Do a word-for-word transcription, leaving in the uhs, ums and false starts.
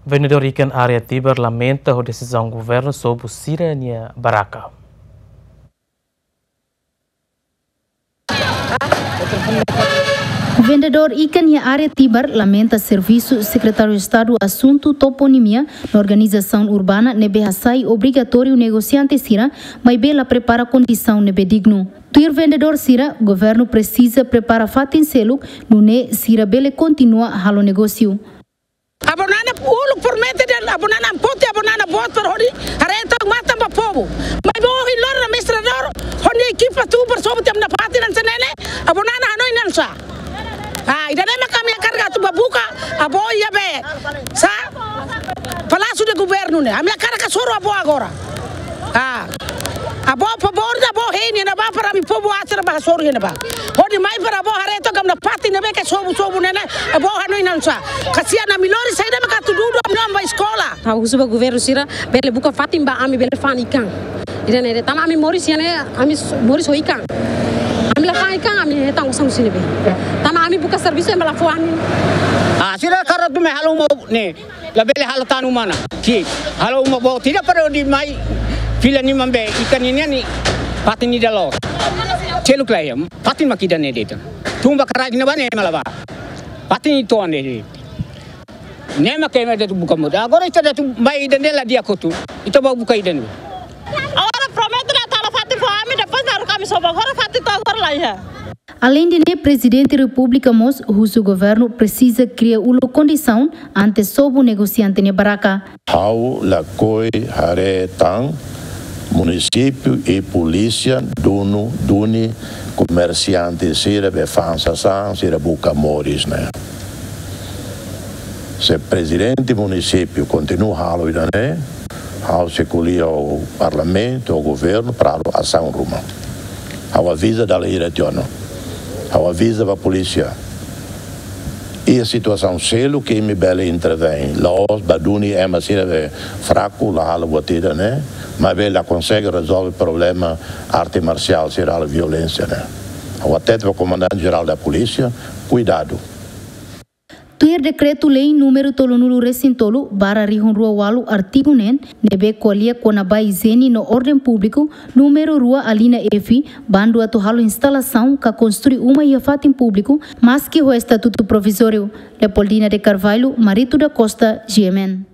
Vendedór ikan área Tibar lamenta ho desizaun governu sobu sira-nia barraka. Vendedór ikan iha área Tibar lamenta servisu Sekretáriu Estadu Asuntu Toponimia no Organizasaun Urbana ne'ebé hasai obrigatóriu negosiante sira, maibé la prepara kondisaun ne'ebé dignu. Tuir vendedór sira, governu presiza prepara fatin seluk, nune'e sira bele kontinua halo negósiu. Avó Nana uluk promete dehan, avó Nana ampote, avó Nana boot para hodi haree tan matan ba povu. Maibé ohin loron administradór ho nia ekipa tuur para sobu tiha ona fatin hanesan ne'e ne'e, avó Nana hanoin hanesan sá. Ah, ida-ne'e mak ami hakarak atu bá buka avó iha be, sá, Palácio de Governo ne'e. Ami hakarak hasoru avó agora. Ah. Avó, favór ida avó hein iha ne'ebá para ami povu aser bá hasoru iha ne'ebá. Hodi mai para avó haree tan katak fatin ne'ebé ke sobu-sobu ne'e ne'e, avó hanoin hanesan sá. Kasihan ami lori saida mak atu dudu ami-nia oan bá eskola. Ha'u husu ba governu sira bele buka fatin ba ami bele fa'an ikan. Ida-ne'e de'it, tanba ami moris iha ne'e, ami s-, moris ho ikan. Ami la fa'an ikan, ami hetan osan husi ne'ebé. Tanba ami buka servisu ema la fó ami. Ah, sira hakarak atu mai halo uma ne'e. Labele halo tan uma ona. Ki, halo uma boot ida para hodi mai fila liman be ikan ne'e nian, fatin ida loos. Seluk la iha, fatin mak ida-ne'e de'it. Tun ba karik ne'ebá ne'e ema la bá. Fatin ida to'o ne'e de'it. Ne'e mak ema atu buka moris. Agora ita atu mai ida-ne'e la di'ak hotu. Ita bá buka ida-ne'e. Agora promete atu halo fatin fó ami, depois baru ami sobu. Agora fatin to'o agora la iha. Aleinde ne'e, Prezidente Repúblika mós husu governu presiza kria uluk kondisaun antes sobu negosiante nia barraka. Ha'u lakohi haree tan munisípiu i polísia duni, duni komersiante sira be fa'an sasán, sira buka moris ne'e. Se prezidente munisípiu kontinua halo ida-ne'e, ha'u sei ko'alia ho parlamentu, ho governu, para halo asaun ruma. Ha'u aviza dala hira tiha ona. Ha'u aviza ba polísia. Iha situasaun seluk ke imi bele intervein. La'ós bá duni ema sira be fraku, la halo buat ida ne'e, maibé la konsege rezolve problema arte marsiál sira halo violénsia ne'e. Ha'u hatete ba Komandante Jerál da Polísia, kuidadu. Tuir dekretu-lei númeru tolunulu resin tolu barra rihun rua ualu, artigu neen, ne'ebé ko'alia kona-ba ijiene no orden públiku, númeru rua alínea F, bandu atu halo instalasaun ka konstrui uma iha fatin públiku, maski ho estatutu provizóriu. Leopoldina de Carvalho, Marito da Costa, G M N.